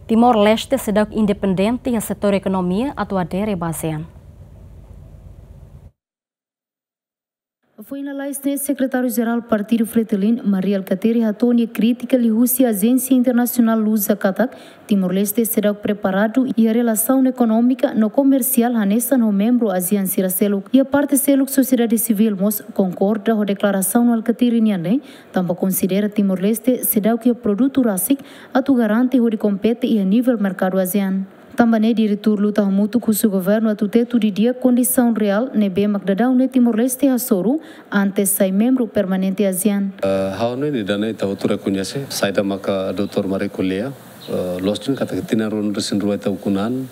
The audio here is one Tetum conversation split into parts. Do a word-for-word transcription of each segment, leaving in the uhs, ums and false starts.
Timor-Leste seidauk independente iha setór ekonomia atu adere ba ASEAN. Foin lalais ne'e, Sekretáriu Jerál Partidu Fretilin, Mari Alkatiri, hato'o nia krítika liuhusi Ajénsia Internasionál Luza katak Timor-Leste seidauk preparadu iha relasaun ekonómika no komersiál hanesan ho membru ASEAN sira seluk. Iha parte seluk, sosiedade sivíl mós konkorda ho deklarasaun Alkatiri nian ne'e, tanba konsidera Timor-Leste seidauk iha produtu rasik atu garante hodi kompete iha nivel merkadu ASEAN. Tanba ne'e, diretór luta hamutuk husu governu atu tetu didi'ak kondisaun reál ne'ebé mak daudaun ne'e Timor-Leste hasoru antes sai membru permanente ASEAN. Eh, ha'u hanoin ida-ne'e ita hotu rekoñese, saida maka doutór Mari ko'alia, eh, loos duni katak tinan ruanulu-resin-rua ita ukun an,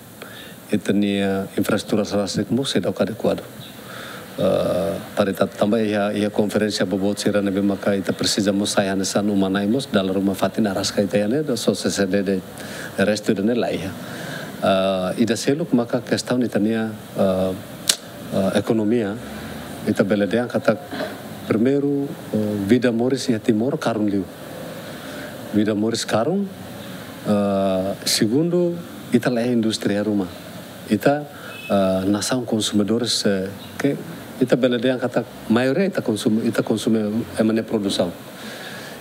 ita-nia infraestrutura rasik mós seidauk adekuadu. Eh, para ita tanba iha, iha konferénsia boboot sira ne'ebé maka ita presiza mós sai hanesan uma-na'in mós, dala ruma fatin araska ita iha ne'e, só se sede de restu ida-ne'e la iha. Eh, ida seluk maka kestaun ita-nia, eh, eh, ekonomia, ita bele dehan katak primeiru, eh, vida moris iha Timor karun liu. Vida moris karun, eh, segundu, ita la iha indústria ruma. Ita, eh, nasaun konsumidores, eh, ke ita bele dehan katak maioria ita konsume, ita konsume ema nia produsaun.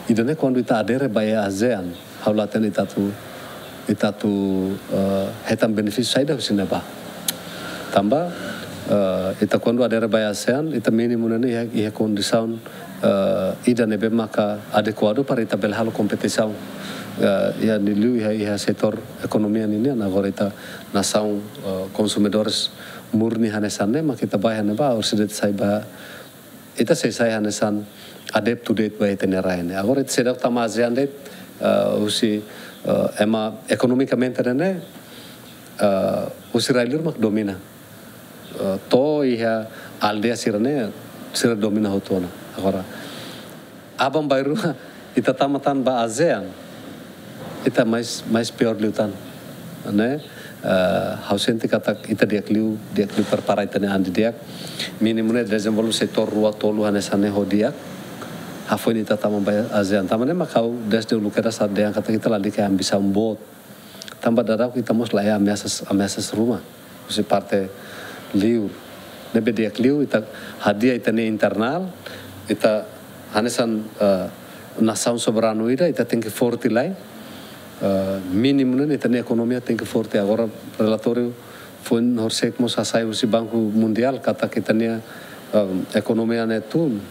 Ida-ne'e kuandu ita adere ba ASEAN, ha'u la hatene ita atu, ita atu, eh, hetan benefísiu saida husi ne'ebá. Tanba, eh, ita kuandu adere ba ASEAN, ita mínimu ne'e iha, iha kondisaun, eh, ida ne'ebé maka adekuadu para ita bele halo kompetisaun. Eh, iha ne'e liu iha, iha setór ekonomia ninian, agora ita nasaun, eh, konsumidores murni hanesan ne'e, maka ita bá iha ne'ebá, orsida ita sai ba, ita sei sai hanesan adeptu de'it ba ita-nia rai ne'e. Agora ita seidauk tama ASEAN de'it, eh, husi, eh, ema ekonomikamente ne'e, eh, husi rai-liur mak domina. Eh, to'o iha aldeia sira-ne'e, sira domina hotu ona. Agora, aban-bainrua ita tama tan ba ASEAN, ita mais, mais piór liután, ne'e? Eh, ha'u sente katak ita di'ak liu, di'ak liu prepara ita-nia an didi'ak. Mínimu ne'e dezenvolve setór rua tolu hanesan ne'e ho di'ak. Hafoin ita tama ba ASEAN. Tanba ne'e mak ha'u dezde uluk kedas dehan katak ita lalika iha ambisaun boot. Tanba daudauk ita mós la iha ameasas, ameasas ruma husi parte liur. Ne'ebé di'ak liu ita hadi'a ita-nia internál, ita hanesan, eh, nasaun soberanu ida, ita tenke forte lai. Eh, mínimu ne'e ita-nia ekonomia tenke forte. Agora relatóriu foin horisehik mós hasai husi Banku Mundiál katak ita-nia, em, ekonomia ne'e tun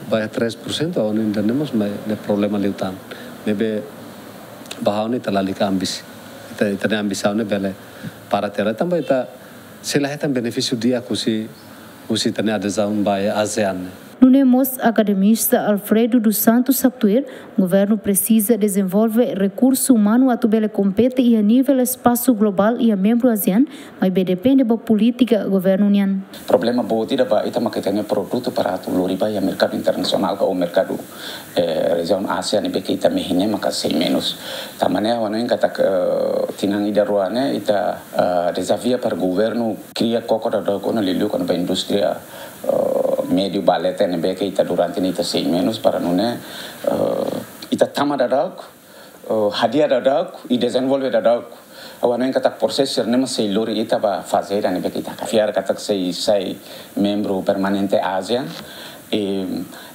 ba iha tres por cento, ha'u hanoin ida-ne'e mós mai, ne'e problema liután. Ne'ebé ba ha'u ne'e ita lalika ambisi. Ita, ita-nia ambisaun ne'e bele para tiha lai tanba ita sei la hetan benefísiu di'ak husi, husi ita-nia adezaun ba ASEAN ne'e. Nune'e mós akademista Alfredo dos Santos haktuir, governu presiza dezenvolve rekursu umanu atu bele kompete iha nivel espasu globál iha membru ASEAN, maibé depende ba polítika governu nian. Problema boot ida ba ita maka ita-nia produtu para atu lori ba iha merkadu internasionál ka ou merkadu, eh, rejiaun Ázia ne'ebé ke ita mehi ne'e maka sei menus. Tanba ne'e ha'u hanoin katak, eh, tinan ida rua ne'e ita, eh, dezafia para governu kria koko daudauk ona liuliu kona-ba indústria, eh, médiu ba leten ne'ebé ke ita durante ne'e ita sei menus para nune'e, eh, ita tama daudauk, eh, hadi'a daudauk i dezenvolve daudauk. Ha'u hanoin katak prosesu sira-ne'e mós sei lori ita ba faze ida ne'ebé ke ita hakarak. Fiar katak sei sai membru permanente ASEAN. I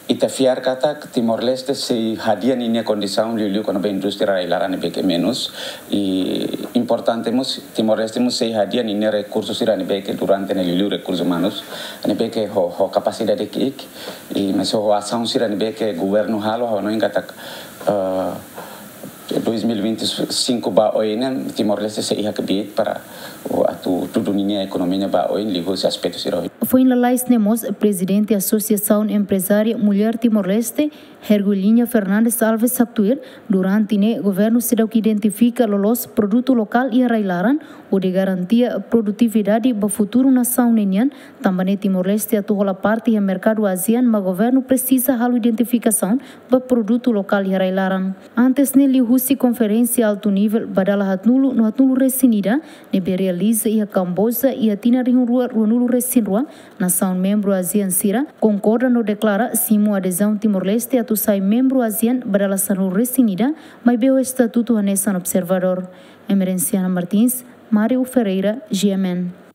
ita fiar katak Timor-Leste sei hadi'a ninia kondisaun liuliu kona-ba indústria rai-laran ne'ebé ke menus. I importante mós, Timor-Leste mós sei hadi'a ninia rekursu sira ne'ebé ke durante ne'e liuliu rekursu umanus ne'ebé ke ho, ho kapasidade ki'ik. I mais ho asaun sira ne'ebé ke governu halo, ha'u hanoin katak, eh, dois mil e vinte e cinco ba oin ne'e, Timor-Leste sei iha kbiit para, o, atu tudu ninia ekonomia ba oin liuhusi aspetu sira ohin. Foin lalais ne'e mós, Prezidente Asosiasaun Emprezária Mulher Timor-Leste, Hergulinha Fernandes Alves haktuir, durante ne'e governu seidauk identifika loloos produtu lokál iha rai-laran, hodi garantia produtividade ba futuru nasaun ne'e nian, tanba ne'e Timor-Leste atu hola parte iha merkadu ASEAN, mak governu presiza halo identifikasaun ba produtu lokál iha rai-laran. Antes ne'e liuhusi konferénsia altu nivel ba dala haatnulu no haatnulu-resin-ida ne'ebé realiza Iha Kamboja iha tinan rihun rua ruanulu resin rua, nasaun membru ASEAN sira konkorda no deklara simu adezaun Timor-Leste atu sai membru ASEAN ba dala sanulu resin ida, maibé ho estatutu hanesan observadór. Emerenciana Martins, Mario Ferreira, G M N.